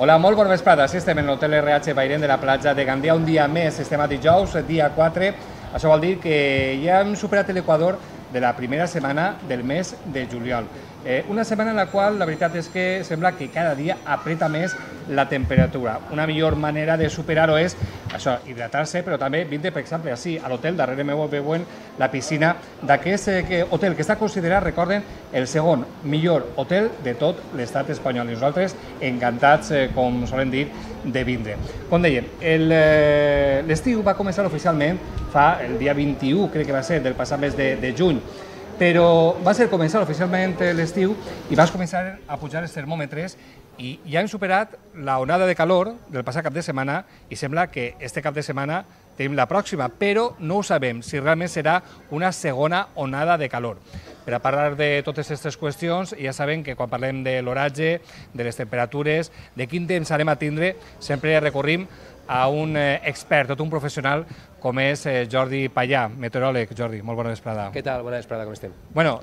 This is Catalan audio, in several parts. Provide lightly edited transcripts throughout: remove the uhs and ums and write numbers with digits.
Hola, molt bona vesprada. Sí, estem en l'Hotel RH Bairén de la platja de Gandia. Un dia més, estem a dijous, dia 4. Això vol dir que ja hem superat l'equador de la primera setmana del mes de juliol. Una setmana en la qual la veritat és que sembla que cada dia apreta més la temperatura. Una millor manera de superar-ho és això, hidratar-se, però també vindre, per exemple, així, a l'hotel, darrere meu veuen la piscina d'aquest hotel que està considerat, recorden, el segon millor hotel de tot l'estat espanyol. I nosaltres encantats, com solen dir, de vindre. Com dèiem, l'estiu va començar oficialment fa el dia 21, crec que va ser, del passat mes de juny, però va ser començar oficialment l'estiu i vas començar a pujar els termòmetres i ja hem superat la onada de calor del passat cap de setmana i sembla que este cap de setmana tenim la pròxima, però no ho sabem si realment serà una segona onada de calor. Per a parlar de totes aquestes qüestions, ja sabem que quan parlem de l'oratge, de les temperatures, de quin temps anem a tindre, sempre recorrim a un expert, tot un professional, com és Jordi Pallà, meteoròleg. Jordi, molt bona vesprada. Què tal? Bona vesprada, com estem? Bueno,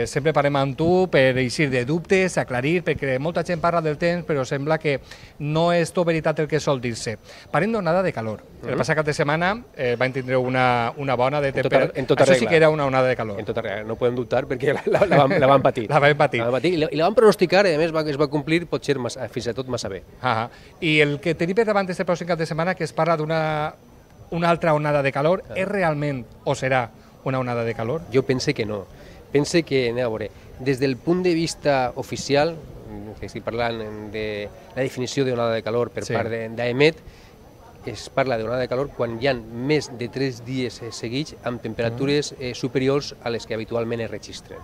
sempre parlem amb tu per eixir de dubtes, aclarir, perquè molta gent parla del temps, però sembla que no és tot veritat el que sol dir-se. Parlem d'onada de calor. El passat cap de setmana van tindre una bona de temperatura. Això sí que era una onada de calor. En tota regla, no podem dubtar perquè la van patir. La vam patir. I la van pronosticar i a més es va complir potser fins i tot massa bé. I el que tenim per davant este pròxim cap de setmana, que es parla d'una altra onada de calor, és realment o serà una onada de calor? Jo pense que no. Pense que, anem a veure, des del punt de vista oficial, que estic parlant de la definició d'onada de calor per part d'AEMET, es parla d'onada de calor quan hi ha més de 3 dies seguits amb temperatures superiors a les que habitualment es registren.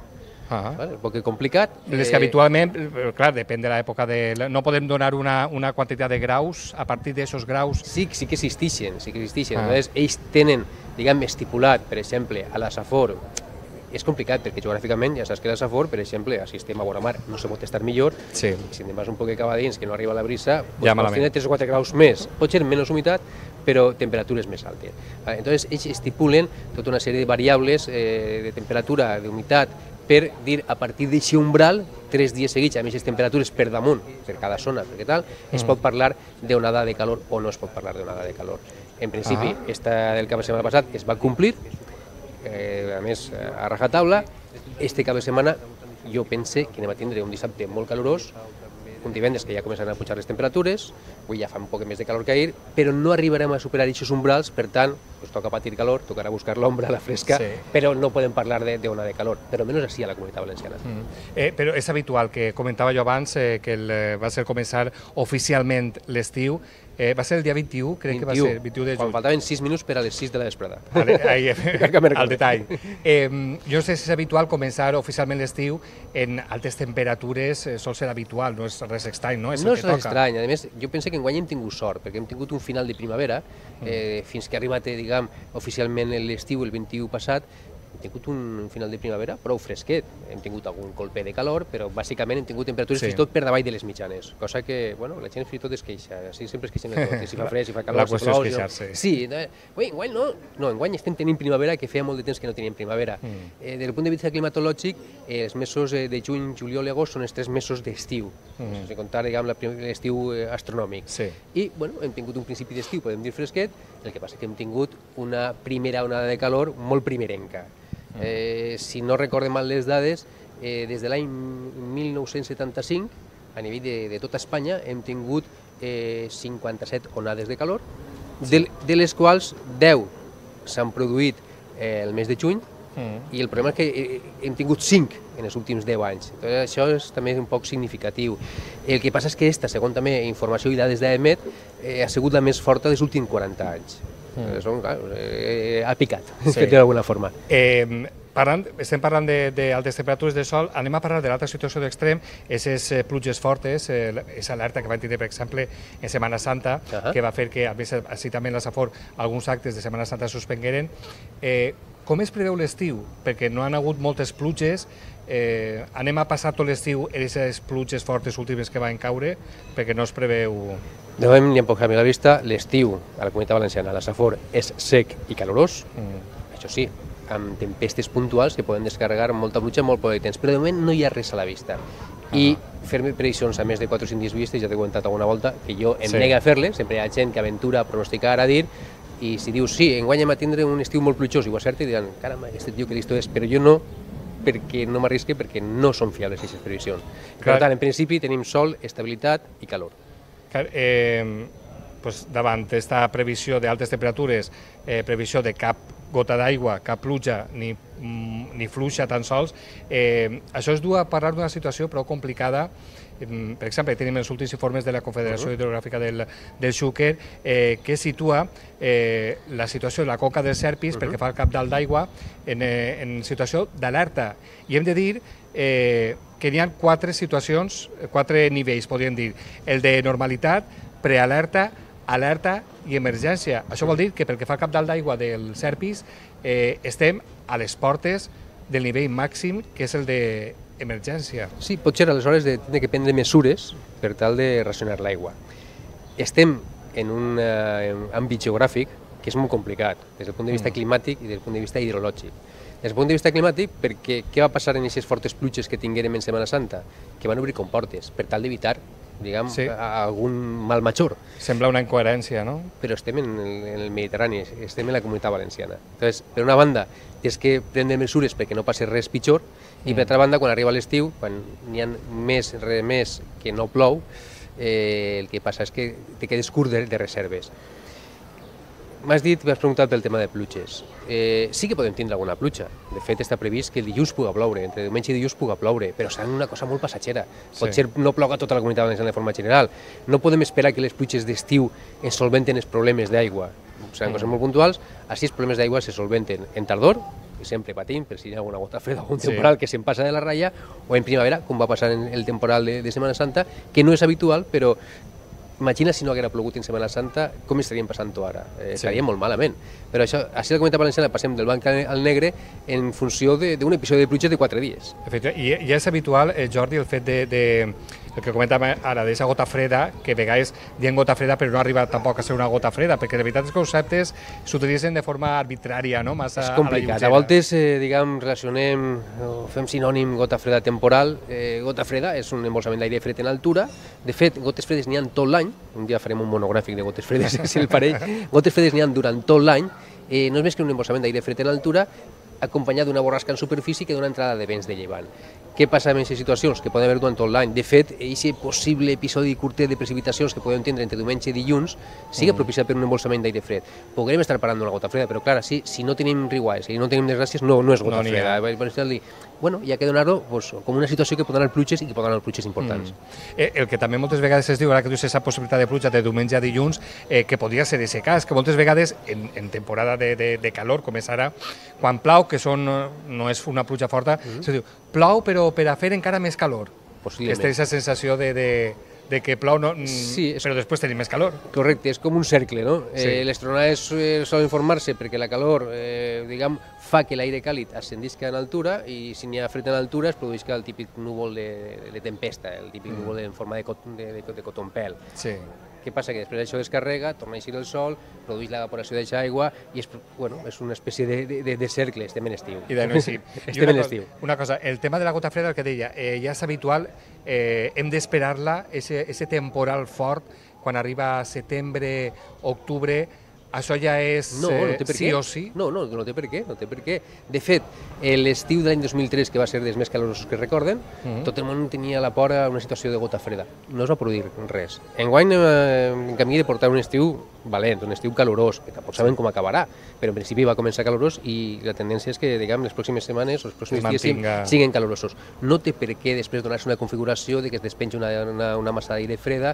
Un poc complicat. Les que habitualment, clar, depèn de l'època, no podem donar una quantitat de graus, a partir d'aquests graus... Sí que existeixen. Ells tenen, diguem, estipulat, per exemple, a la Safor, és complicat perquè geogràficament ja saps que la Safor, per exemple, si estem a vora mar no se pot estar millor, si anem un poc cap a dins que no arriba la brisa, pots tenir 3 o 4 graus més, pot ser menys humitat, però temperatures més altes. Entonces, ells estipulen tota una sèrie de variables de temperatura, d'humitat, per dir, a partir d'aquest umbral, 3 dies seguits, a més les temperatures per damunt, per cada zona, perquè tal, es pot parlar d'onada de calor o no es pot parlar d'onada de calor. En principi, esta del cap de setmana passat es va complir, a més, a rajatabla. Este cap de setmana jo pense que anem a tindre un dissabte molt calorós, un divendres que ja començaran a pujar les temperatures, avui ja fa un poc més de calor que ahir, però no arribarem a superar aquests umbrals, per tant, toca patir calor, tocarà buscar l'ombra, la fresca, però no podem parlar d'ona de calor, però almenys així a la Comunitat Valenciana. Però és habitual, que comentava jo abans, que va ser començar oficialment l'estiu, va ser el dia 21, crec que va ser, 21 de juny. Quan faltaven 6 minuts per a les 6 de la vesprada. Al detall. Jo no sé si és habitual començar oficialment l'estiu en altes temperatures, sol ser habitual, no és res estrany, no? No és res estrany, a més, jo penso que enguany hem tingut sort, perquè hem tingut un final de primavera, fins que ha arribat, diguem, oficialment l'estiu, el 21 passat, hem tingut un final de primavera prou fresquet. Hem tingut algun colpe de calor, però bàsicament hem tingut temperatures fins i tot per davall de les mitjanes, cosa que, bueno, la gent fins i tot es queixa, així sempre es queixen de tot, si fa fred, si fa calor, la qüestió és queixar-se. Sí, enguany no, enguany estem tenint primavera, que feia molt de temps que no teníem primavera. Des del punt de vista climatològic, els mesos de juny, juliol i agost són els 3 mesos d'estiu, sense comptar, diguem, l'estiu astronòmic. I, bueno, hem tingut un principi d'estiu, podem dir fresquet, el que passa que hem tingut una primera onada de calor molt primerenca. Si no recorde mal les dades, des de l'any 1975, a nivell de tota Espanya, hem tingut 57 onades de calor, de les quals 10 s'han produït el mes de juny, i el problema és que hem tingut 5 en els últims 10 anys. Això és també un poc significatiu. El que passa és que aquesta, segons també informació i dades d'AEMET, ha sigut la més forta dels últims 40 anys. Ha picat, d'alguna forma. Estem parlant d'altes temperatures de sol, anem a parlar de l'altra situació d'extrem, aquestes pluges fortes, aquesta alerta que van tindre, per exemple, en Setmana Santa, que va fer que, a més, així també en la Safor, alguns actes de Setmana Santa suspengueren. Com es preveu l'estiu? Perquè no han hagut moltes pluges, anem a passar tot l'estiu en aquestes pluges fortes últimes que van caure, perquè no es preveu... De moment ni em puc canviar la vista, l'estiu a la Comunitat Valenciana, a la Safor, és sec i calorós, això sí, amb tempestes puntuals que poden descarregar molta pluja en molt poc de temps, però de moment no hi ha res a la vista. i fer-me previsions a més de 4 o 5 dies vistes, ja t'he comentat alguna volta, que jo em nego a fer-les, sempre hi ha gent que aventura a pronosticar, a dir, i si dius, sí, enguany hem a tindre un estiu molt plujós, i ho acerta, i diran, caramba, aquest tio que listo és, però jo no, perquè no m'arrisque, perquè no són fiables aquestes previsions. Per tant, en principi tenim sol, estabilitat i calor. Davant aquesta previsió d'altes temperatures, previsió de cap gota d'aigua, cap pluja, ni fluixa tan sols, això es du a parlar d'una situació prou complicada. Per exemple, tenim els últims informes de la Confederació Hidrogràfica del Xúquer que situa la situació de la conca del Serpis perquè fa el cap dalt d'aigua en situació d'alerta. I hem de dir que n'hi ha 4 situacions, 4 nivells, podríem dir. El de normalitat, prealerta, alerta i emergència. Això vol dir que pel que fa al cap dalt d'aigua del Serpis estem a les portes del nivell màxim, que és el d'emergència. Sí, potser aleshores hem de prendre mesures per tal de racionar l'aigua. Estem en un àmbit geogràfic que és molt complicat, des del punt de vista climàtic i des del punt de vista hidrològic. Des del punt de vista climàtic, perquè què va passar en aquestes fortes pluges que tinguérem en Setmana Santa? Que van obrir comportes per tal d'evitar algun mal major. Sembla una incoherència, no? Però estem en el Mediterrani, estem en la Comunitat Valenciana. Entonces, per una banda, és que prendre mesures perquè no passi res pitjor, i per altra banda, quan arriba l'estiu, quan n'hi ha més que no plou, el que passa és que te quedes curt de reserves. M'has preguntat pel tema de pluges. Sí que podem tindre alguna pluja. De fet, està previst que el dilluns puga ploure, entre diumenge i dilluns puga ploure, però serà una cosa molt passatgera. Potser no ploga tota la Comunitat Valenciana de forma general. No podem esperar que les pluges d'estiu ens solventen els problemes d'aigua. Seran coses molt puntuals. Així els problemes d'aigua se solventen en tardor, que sempre patim, per si hi ha alguna gota freda o un temporal que se'n passa de la ratlla, o en primavera, com va passar en el temporal de Setmana Santa, que no és habitual, però imagina si no haguera plogut en Setmana Santa, com estaríem passant-ho ara? Estaríem molt malament. Però això, així la Comunitat Valenciana passem del blanc al negre en funció d'un episodi de pluja de 4 dies. I ja és habitual, Jordi, el fet el que comentàvem ara, d'aquesta gota freda, que a vegades diem gota freda però no arriba tampoc a ser una gota freda, perquè de veritat els conceptes s'utilitzen de forma arbitrària, no? Massa és complicat. A voltes, relacionem o fem sinònim gota freda temporal. Gota freda és un embolsament d'aire fred en altura. De fet, gotes fredes n'hi ha tot l'any. Un dia farem un monogràfic de gotes fredes, si el parell. Gotes fredes n'hi ha durant tot l'any. No és més que un embolsament d'aire fred en altura acompanyat d'una borrasca en superfície que d'una entrada de vents de llevant. Què passa en aquestes situacions? Que poden haver durant tot l'any. De fet, aquest possible episodi curtet de precipitacions que podem tindre entre diumenge i dilluns sigui propiciat per un embolsament d'aire fred. Podrem estar parlant d'una gota freda, però clar, si no tenim riguais i no tenim desgràcies, no és gota freda. Bueno, hi ha que donar-ho com una situació que pot anar pluges i que pot anar pluges importants. El que també moltes vegades es diu, ara que dius aquesta possibilitat de pluja de diumenge a dilluns, que podria ser aquest cas, que moltes vegades en temporada de calor, com és ara, quan plau, que no és una pluja forta, se diu, plou però per a fer encara més calor. Aquesta és la sensació de que plou, però després tenim més calor. Correcte, és com un cercle, no? Les tronades solen formar-se perquè la calor, fa que l'aire càlid ascendisca en altura i si n'hi ha fred en altura es produïsca el típic núvol de tempesta, el típic núvol en forma de cotonpel. Què passa? Que després això descarrega, torna a eixir el sol, produeix l'evaporació d'aquesta aigua i és una espècie de cercle, estem en estiu. Estem en estiu. Una cosa, el tema de la gota freda, el que deia, ja és habitual, hem d'esperar-la, aquest temporal fort, quan arriba a setembre, octubre, això ja és sí o sí? No té per què. De fet, l'estiu de l'any 2003, que va ser dels més calorosos que recorden, tot el món tenia a la vora una situació de gota freda. No es va produir res. Enguany en camí de portar un estiu valent, un estiu calorós, que tampoc sabem com acabarà, però en principi va començar calorós i la tendència és que, les pròximes setmanes o els pròxims dies siguin calorosos. No té per què després donar-se una configuració de que es despenja una massa d'aire freda,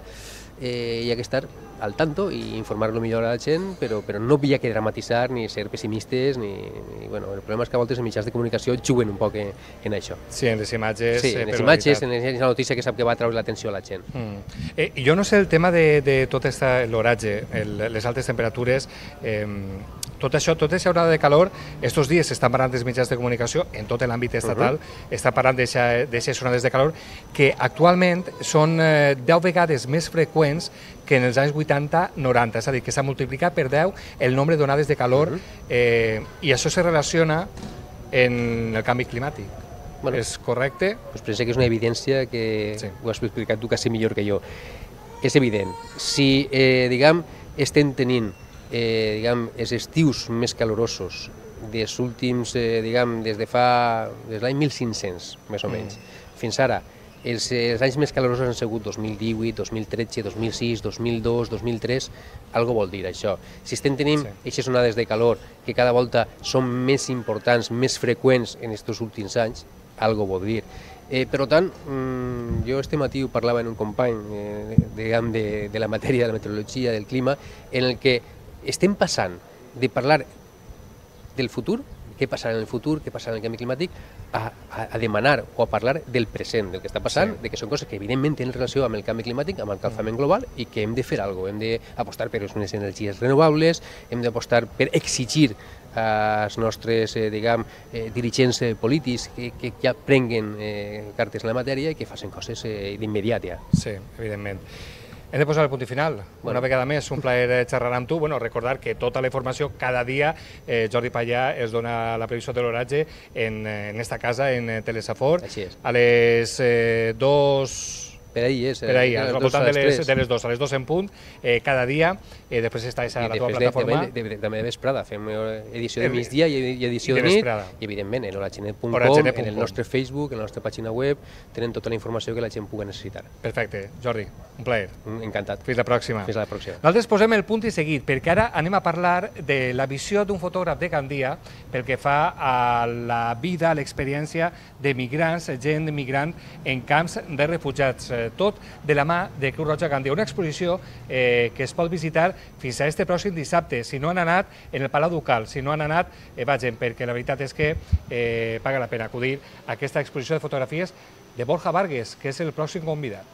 hi ha que estar al tanto i informar-lo millor a la gent, però no hi ha que dramatitzar ni ser pessimistes, el problema és que a voltes els mitjans de comunicació juguen un poc en això. Sí, en les imatges. Sí, en les imatges, en la notícia que sap que va treure l'atenció a la gent. I jo no sé el tema de tot l'oratge, les altes temperatures, tot això, tota aquesta onada de calor, estos dies s'estan parlant dels mitjans de comunicació, en tot l'àmbit estatal, està parlant d'aquestes onades de calor, que actualment són 10 vegades més freqüents que en els anys 80-90, és a dir, que s'ha multiplicat per 10 el nombre d'onades de calor, i això se relaciona en el canvi climàtic. és correcte? Doncs penso que és una evidència que ho has explicat tu quasi millor que jo. És evident, si estem tenint els estius més calorosos dels últims, des l'any 1500, més o menys, fins ara, els anys més calorosos han sigut 2018, 2013, 2006, 2002, 2003, algo vol dir això. Si estem tenint aquestes onades de calor que cada volta són més importants, més freqüents en aquests últims anys, algo vol dir. Per tant, jo este matí ho parlava amb un company de la matèria de la meteorologia, del clima, en el que estem passant de parlar del futur, què passarà en el futur, què passarà en el canvi climàtic, a demanar o a parlar del present, del que està passant, de que són coses que evidentment tenen relació amb el canvi climàtic, amb el calfament global, i que hem de fer alguna cosa. Hem d'apostar per unes energies renovables, hem d'apostar per exigir als nostres dirigents polítics que ja prenguen cartes en la matèria i que facin coses d'immediat ja. Sí, evidentment. Hem de posar el punt i final. Una vegada més, un plaer xerrar amb tu. Recordar que tota la informació, cada dia, Jordi Pallà es dona la previsió de l'oratge en esta casa, en Telesafor. Així és. A les 2... Per ahir és. Per ahir, al voltant de les 2, a les 2 en punt, cada dia. Després està a la teva plataforma. També de vesprada, fem edició de migdia i edició de nit. I evidentment, en oragenet.com, en el nostre Facebook, en la nostra pàgina web, tenen tota la informació que la gent pugui necessitar. Perfecte. Jordi, un plaer. Encantat. Fins la pròxima. Fins la pròxima. Nosaltres posem el punt i seguit, perquè ara anem a parlar de la visió d'un fotògraf de Gandia pel que fa a la vida, a l'experiència de migrants, gent migrant en camps de refugiats. Tot de la mà de Creu Roja Gandia. Una exposició que es pot visitar fins a este pròxim dissabte. Si no han anat, en el Palau Ducal. Si no han anat, vagin, perquè la veritat és que paga la pena acudir a aquesta exposició de fotografies de Borja Vargas, que és el pròxim convidat.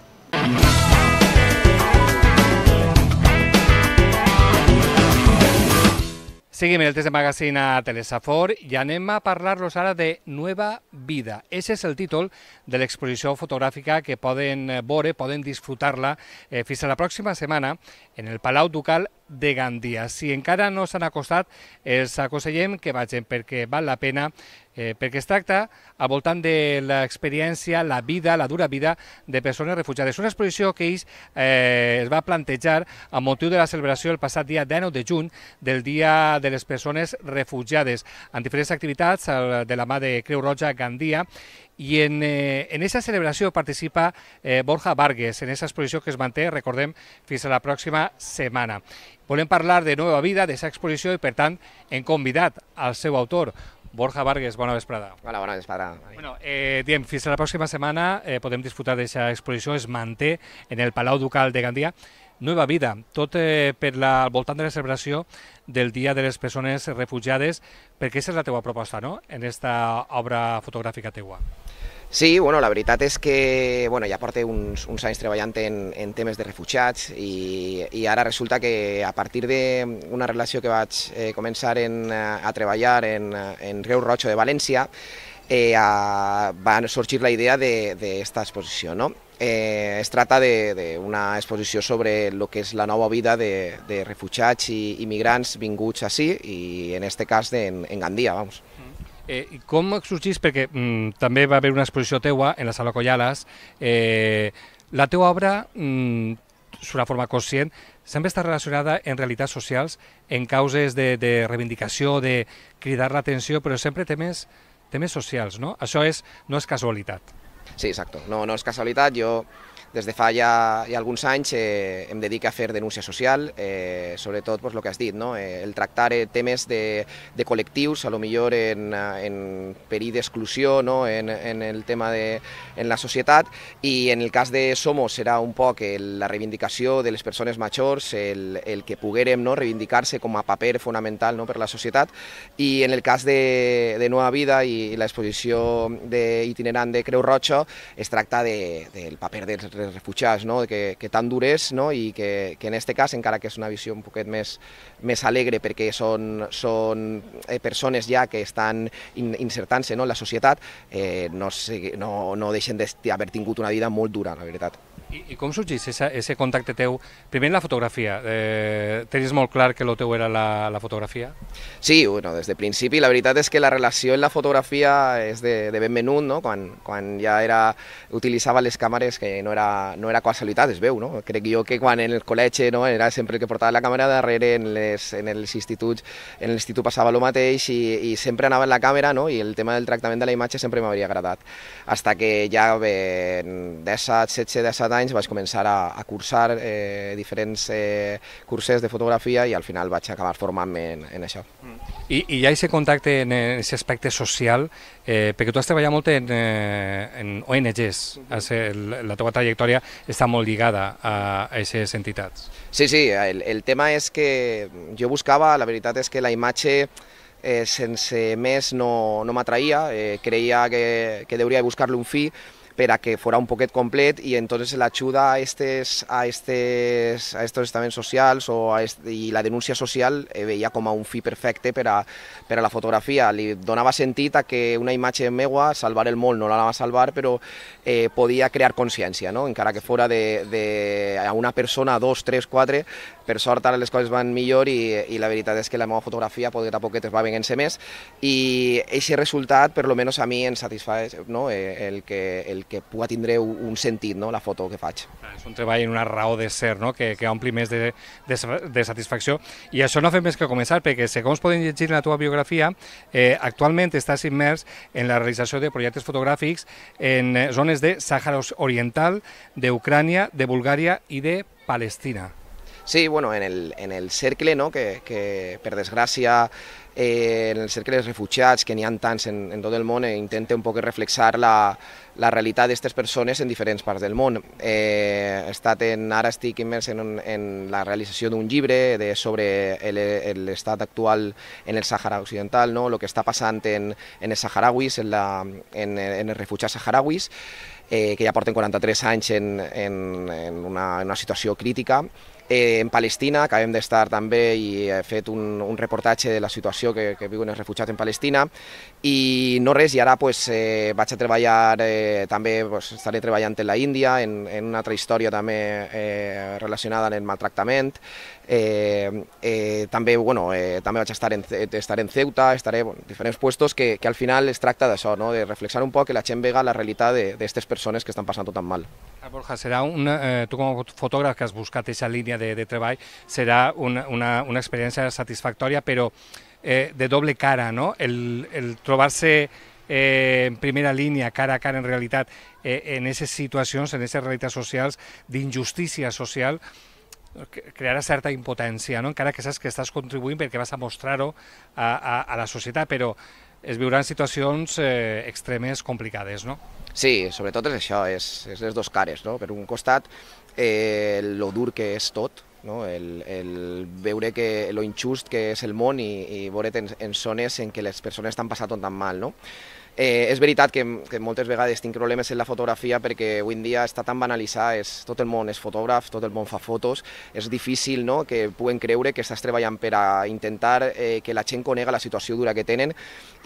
Seguim el test de magazine a Telesafor i anem a parlar-los ara de Nueva Vida. Ese és el títol de l'exposició fotogràfica que poden veure, poden disfrutar-la fins a la pròxima setmana en el Palau Ducal de Gandia. Si encara no s'han acostat, els aconsellem que vagin perquè val la pena, perquè es tracta al voltant de l'experiència, la vida, la dura vida de persones refugiades. Una exposició que ells es va plantejar amb motiu de la celebració el passat dia 19 de juny del Dia de les Persones Refugiades, amb diferents activitats de la mà de Creu Roja Gandia. I en aquesta celebració participa Borja Vargas, en aquesta exposició que es manté, recordem, fins a la pròxima setmana. Volem parlar de Nueva Vida, d'aquesta exposició, i per tant hem convidat al seu autor, Borja Vargas. Bona vesprada. Hola, bona vesprada. Diem, fins a la pròxima setmana podem disfrutar d'aquesta exposició, es manté en el Palau Ducal de Gandia. Nueva Vida, tot al voltant de la celebració del Dia de les Persones Refugiades, perquè aquesta és la teua proposta, no?, en aquesta obra fotogràfica teua. Sí, bueno, la veritat és que ja porto uns anys treballant en temes de refugiats i ara resulta que a partir d'una relació que vaig començar a treballar en Creu Roja de València va sorgir la idea d'esta exposició, no? Es tracta d'una exposició sobre el que és la nova vida de refugiats i immigrants vinguts ací i en aquest cas en Gandia, vamos. I com sorgís? Perquè també va haver una exposició teua en la Sala Collales. La teua obra, d'una forma conscient, sempre està relacionada en realitats socials, en causes de reivindicació, de cridar l'atenció, però sempre temes socials, no? Això no és casualitat. Sí, exacte. No és casualitat. Jo des de fa ja alguns anys em dedico a fer denúncia social, sobretot el que has dit, el tractar temes de col·lectius, a lo millor en perill d'exclusió, en el tema en la societat, i en el cas de Somos serà un poc la reivindicació de les persones majors, el que poguérem reivindicar-se com a paper fonamental per la societat, i en el cas de Nueva Vida i l'exposició itinerant de Creu Roja es tracta del paper dels refugiats, que tan dur és, i que en aquest cas, encara que és una visió un poquet més alegre perquè són persones ja que estan insertant-se en la societat, no deixen d'haver tingut una vida molt dura, la veritat. I com sorgeix aquest contacte teu? Primer la fotografia. Tenies molt clar que el teu era la fotografia? Sí, bueno, des de principi la veritat és que la relació en la fotografia és de ben menut, no? Quan ja utilitzava les càmeres, que no era casualitat, es veu, no? Crec jo que quan en el col·legi, no, era sempre el que portava la càmera darrere, en els instituts, en l'institut passava el mateix i sempre anava en la càmera, no? I el tema del tractament de la imatge sempre m'hauria agradat. Hasta que ja en 17 anys vaig començar a cursar diferents curses de fotografia i al final vaig acabar formant-me en això. I hi ha aquest contacte en aquest aspecte social, perquè tu has treballat molt en ONGs, la teva trajectòria està molt lligada a aquestes entitats. Sí, el tema és que jo buscava, la veritat és que la imatge sense més no m'atraïa, creia que hauria de buscar-li un fi per a que fora un poquet complet i entonces l'ajuda a estos estaments socials i la denúncia social veia com a un fi perfecte per a la fotografia. Li donava sentit a que una imatge meua, salvar el món no l'anava a salvar, però podia crear consciència, no? Encara que fora a una persona, 2, 3, 4, per sort ara les coses van millor i la veritat és que la meva fotografia poquet a poquet es va venint-se més i aquest resultat per lo menos a mi em satisfà, no? el que pugui tindre un sentit, no? La foto que faig. És un treball en una raó de ser, no? que ompli més de satisfacció i això no ha fet més que començar perquè segons podem llegir en la teva biografia actualment estàs immers en la realització de projectes fotogràfics en zones de Sàhara Oriental, d'Ucrània, de Bulgària i de Palestina. Sí, bueno, en el cercle, no? que per desgràcia en el cercle dels refugiats, que n'hi ha tants en tot el món, intenta un poc reflexar la realitat d'aquestes persones en diferents parts del món. Ara estic immers en la realització d'un llibre sobre l'estat actual en el Sàhara Occidental, no? El que està passant en els saharauis, en els refugiats saharauis, que ja porten 43 anys en una situació crítica. En Palestina acabem d'estar també i he fet un reportatge de la situació que viuen els refugiats en Palestina i no res, i ara vaig a treballar, també estaré treballant en la Índia, en una altra història també relacionada amb el maltractament. També vaig estar en Ceuta, estaré en diferents puestos que al final es tracta d'això, no? De reflexar un poc que la gent vega la realitat d'aquestes persones que estan passant-ho tan mal. Borja, tu com a fotògraf que has buscat aquesta línia de treball, serà una experiència satisfactòria, però de doble cara, no? El trobar-se en primera línia, cara a cara en realitat, en aquestes situacions, en aquestes realitats socials, d'injustícia social, crearà certa impotència, no? Encara que saps que estàs contribuint perquè vas a mostrar-ho a la societat, però es viuran situacions extremes complicades, no? Sí, sobretot és això, és les dues cares, no? Per un costat, lo dur que és tot, no? El veure lo injust que és el món i veure't en zones en què les persones estan passant tan mal, no? És veritat que moltes vegades tinc problemes en la fotografia perquè avui en dia està tan banalitzat, tot el món és fotògraf, tot el món fa fotos, és difícil, no? Que puguen creure que estàs treballant per a intentar que la gent conega la situació dura que tenen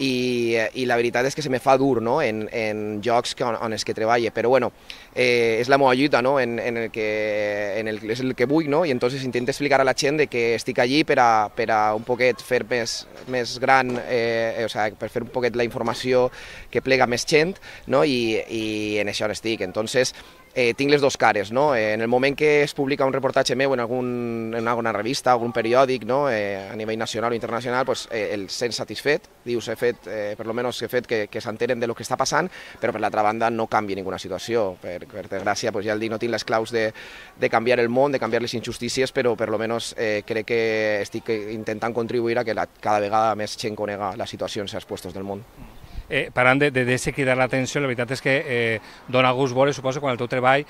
i la veritat és que se me fa dur, no? En jocs on els que treballe, però bueno, és la meva lluita, no? És el que vull, no? I entonces intento explicar a la gent que estic allí per a un poquet fer més gran, per fer un poquet la informació que plega més gent, no? I en això estic. Entonces, tinc les dues cares, no? En el moment que es publica un reportatge meu en alguna revista, algun periòdic, no? A nivell nacional o internacional, pues, el sent satisfet, dius, per lo menos he fet que s'entenen de lo que està passant, però per l'altra banda no canvia ninguna situació. Per desgràcia, pues, ja el dic, no tinc les claus de canviar el món, de canviar les injustícies, però per lo menos crec que estic intentant contribuir a que cada vegada més gent conega la situació en certs puestos del món. Parlant de cridar l'atenció, la veritat és que dona gust veure, suposo, quan el teu treball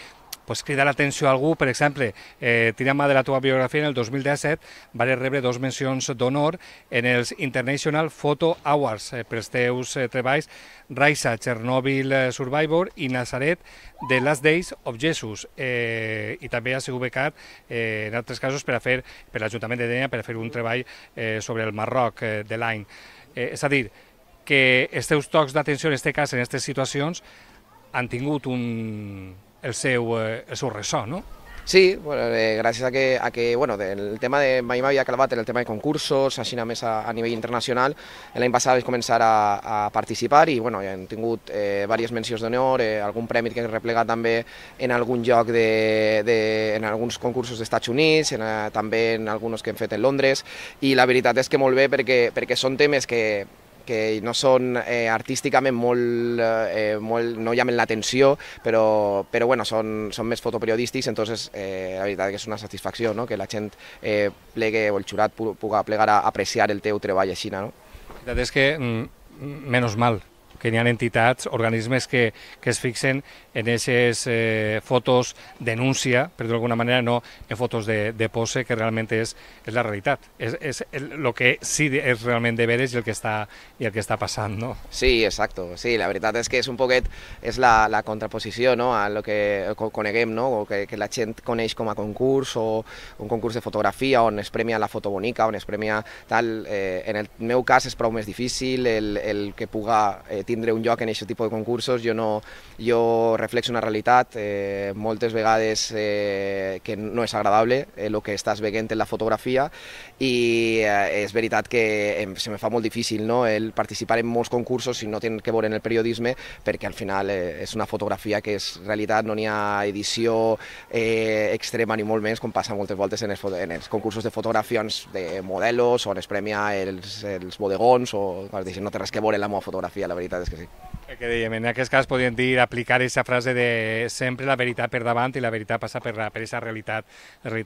cridar l'atenció a algú. Per exemple, tirant mà de la teva biografia, en el 2017 vas rebre 2 mencions d'honor en els International Photo Awards pels teus treballs Raisa, Chernobyl Survivor i Nazaret, The Last Days of Jesus. I també has sigut becat en altres casos per l'Ajuntament de Dénia per fer un treball sobre el Marroc de l'any. És a dir, que els teus tocs d'atenció, en aquest cas, en aquestes situacions, han tingut un el seu ressò, no? Sí, bueno, gràcies a que bueno, el tema de mai m'havia clavat en el tema de concursos, així més a nivell internacional. L'any passat vaig començar a participar i bueno, ja hem tingut diverses mencions d'honor, algun premi que he replegat també en algun lloc en alguns concursos dels Estats Units, també en alguns que hem fet en Londres, i la veritat és que molt bé perquè són temes que no són artísticament no llamen l'atenció, però bueno, són més fotoperiodístics, entonces la veritat és que és una satisfacció, no? Que la gent plegue o el jurat puga plegar a apreciar el teu treball així, no? La veritat és que, menys mal, que hi ha entitats, organismes que es fixen en aquestes fotos denúncia, per dir d'alguna manera, no en fotos de pose, que realment és la realitat. És el que sí és realment de veres i el que està passant, no? Sí, exacto. Sí, la veritat és que és un poquet la contraposició, no?, a lo que coneguem, no?, o que la gent coneix com a concurs, o un concurs de fotografia on es premia la foto bonica, on es premia tal. En el meu cas és prou més difícil el que puga tindre un lloc en aquest tipus de concursos. Jo reflexo una realitat moltes vegades que no és agradable el que estàs veient en la fotografia, i és veritat que se me fa molt difícil, no?, el participar en molts concursos si no tenen que veure en el periodisme, perquè al final és una fotografia que és realitat, no n'hi ha edició extrema ni molt menys, com passa moltes voltes en els concursos de fotografions de modelos, on es premia els bodegons, o no té res que veure en la meva fotografia, la veritat és que sí. Que dèiem, en aquest cas podríem dir, aplicar aquesta frase de sempre la veritat per davant i la veritat passa per aquesta realitat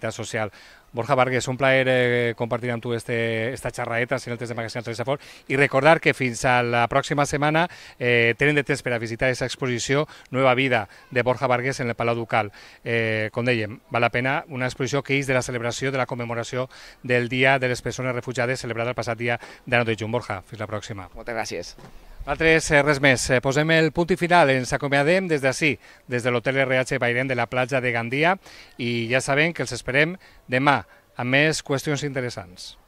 social. Borja Vargas, un plaer compartir amb tu esta xerraeta en el test de Magasin Safor, i recordar que fins a la pròxima setmana tenen de temps per a visitar aquesta exposició Nueva Vida de Borja Vargas en el Palau Ducal. Com dèiem, val la pena, una exposició que és de la celebració, de la commemoració del Dia de les Persones Refugiades, celebrat el passat dia de 9 de juny. Borja, fins la pròxima. Moltes gràcies. Altres, res més. Posem el punt i final. Ens acomiadem des d'ací, des de l'Hotel RH Bairén de la platja de Gandia, i ja sabem que els esperem demà amb més qüestions interessants.